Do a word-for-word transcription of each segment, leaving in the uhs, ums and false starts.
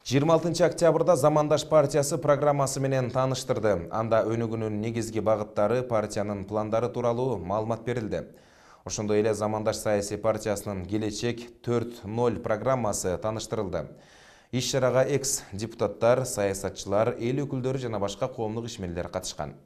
жыйырма алтынчы октябрда Замандаш партиясы программасы менен тааныштырды. Анда өнүгүүнүн негизги багыттары, партиянын пландары тууралуу маалымат берилди. Ошондой эле Замандаш саясий партиясынын келечек төрт ноль программасы тааныштырылды. Иш-чарага экс-депутаттар, саясатчылар, эл өкүлдөрү жана башка коомдук ишмерлер катышкан.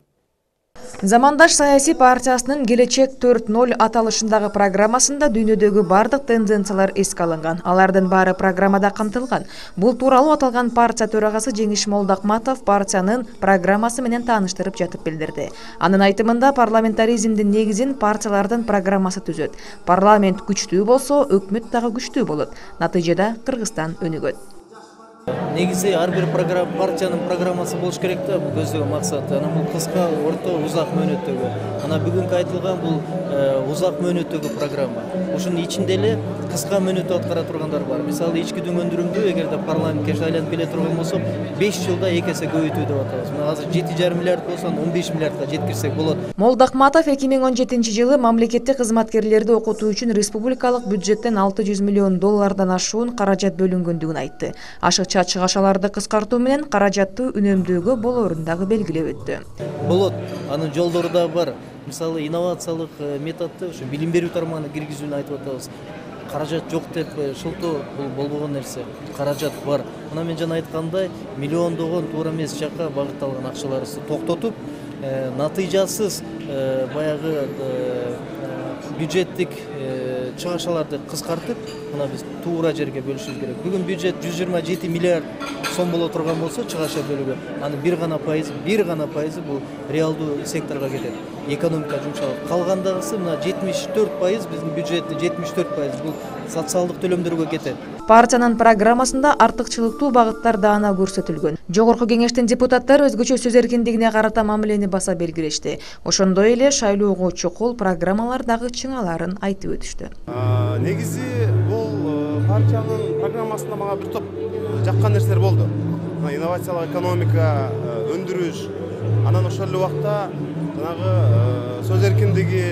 Замандаш саясий партиясынын келечек төрт ноль аталышындагы программасында дүйнөдөгү бардык тенденциялар эске алынган. Алардын баары программада камтылган. Бул тууралуу аталган партия төрагасы Жеңиш Молдокматов партиянын программасы менен тааныштырып жатып билдирди. Анын айтымында парламентаризмдин негизин партиялардын программасы түзөт. Парламент күчтүү болсо, өкмөт дагы күчтүү болот. Натыйжада Кыргызстан өнүгөт. Негизи ар бир программа партиянын программасы болуш керек да, бул көздөгөн максат. Ана бул кыска, орто, узак мөөнөттөгү. Ана бүгүнкү айтылган бул узак мөөнөттөгү программа. Ушунун ичинде эле кыска мөөнөттө аткара тургандар бар. Мисалы, ички дүң өндүрүмдү эгерде парламентке айланып келе турган болсо, беш жылда эки эсе көбөйтүү деп атабыз. Мына азыр жети жарым миллиард болсо, он беш миллиардка жеткирсек болот. Молдокматов эки миң он жетинчи жылы мамлекеттик кызматкерлерди окутуу үчүн республикалык бюджеттен алты жүз миллион доллардан ашуун каражат бөлүнгөндүгүн айтты. Ашыкча чыгашаларды кыскартуу менен каражатты үнөмдөөгө болоорун дагы белгилеп өттү. Болот, анын жолдору да бар. Мисалы, инновациялык методду ушу билим берүү тармагына киргизүүнү айтып атабыз. Каражат жок деп шылтоо бул болбогон нерсе. Каражат бар. Мына мен жана айткандай, миллиондогон туура эмес жакка багытталган акчаларыбызды токтотуп, натыйжасыз баягы бюджеттик чыгашаларды кыскартып, мына биз туура жерге бөлүшүбүз керек. Бүгүн бюджет жүз жыйырма жети миллиард сом боло турган болсо, чыгаша бөлүгү, анын бир гана пайызы, бир гана пайызы бул реалдуу секторго кетет. Экономика жумшалат. Калгандагысы мына жетимиш төрт пайыз биздин бюджеттин жетимиш төрт пайыз бул социалдык төлөмдөргө кетет. Партиянын программасында артыкчылыктуу багыттар даана көрсөтүлгөн. Жогорку кеңештин депутаттары өзгөчө сөз эркиндигине карата мамилени баса белгилешти. Ошондой эле шайлоого чукул программалар дагы чыңаларын айтып өтүштү. Негизи бул партиянын программасында мага бир топ жаккан нерселер болду. Инновациялык экономика, өндүрүш, анан ошол эле убакта жанагы сөз эркиндиги,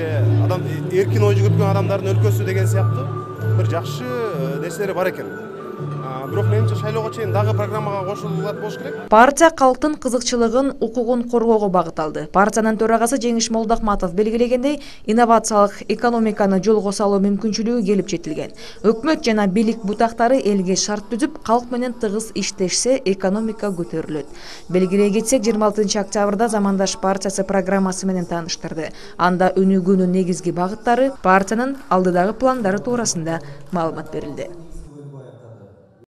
адам эркин ой жүгүрткөн адамдардын өлкөсү деген сыяктуу бир жакшы нерселери бар экен. Бирок менимче шайлоого чейин дагы программага кошулат болуш керек. Партия калктын кызыкчылыгын, укугун коргоого багыт алды. Партиянын төрагасы Жеңиш Молдокматов белгилегендей, инновациялык экономиканы жолго салуу мүмкүнчүлүгү келип жетилген. Өкмөт жана бийлик бутактары элге шарт түзүп, калк менен тыгыз иштешсе, экономика көтөрүлөт. Белгилей кетсек, жыйырма алтынчы октябрда Замандаш партиясы программасы менен тааныштырды. Анда өнүгүүнүн негизги багыттары, партиянын алдыдагы пландары туурасында маалымат берилди.